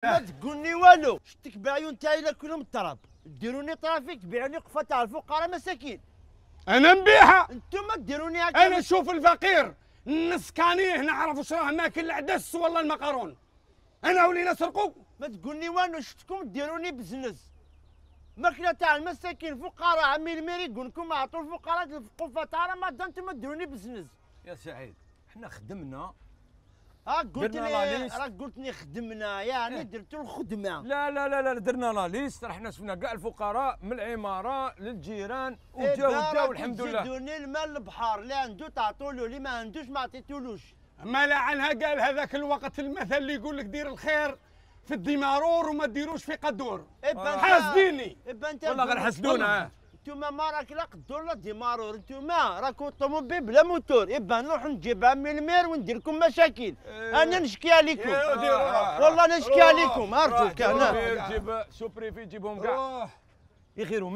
ما تقولني والو، شتك بعيون تاعي كلهم التراب، ديروني طرافيك تبيعوني قفه تاع الفقراء مساكين. انا نبيعها. انتوما ديروني هكا. انا نشوف الفقير نسكانيه نعرف واش راه ماكل العدس ولا المقارون. انا ولينا نسرقوا. ما تقولني والو، شفتكم ديروني بزنس ماكله تاع المساكين فقراء. عمي الميري يقول لكم اعطوا الفقراء القفه تاع رمضان، انتوما ديروني بزنس. يا سعيد حنا خدمنا. قلت لي راك قلت لي خدمنا، يعني درتوا الخدمه. لا لا لا لا درنا لا ليست، رحنا شفنا كاع الفقراء من العماره للجيران وجاو الحمد لله. تزيدوني المال البحر، اللي عنده تعطوا له، اللي ما عندوش ما عطيتولوش. ما لعنها قال هذاك الوقت المثل اللي يقول لك دير الخير في الديمارور وما ديروش في قدور. حاسديني. والله غير حسدونا. انتوما ما راك لا قدور لا ديمارور، انتوما راكم طوموبيل بلا موتور. نروح نجيب عمي المير وندير لكم مشاكل. انا نشكي عليكم والله نشكي عليكم. ارجوك انا جيب سوبريفي جيبهم كاع يغيروا.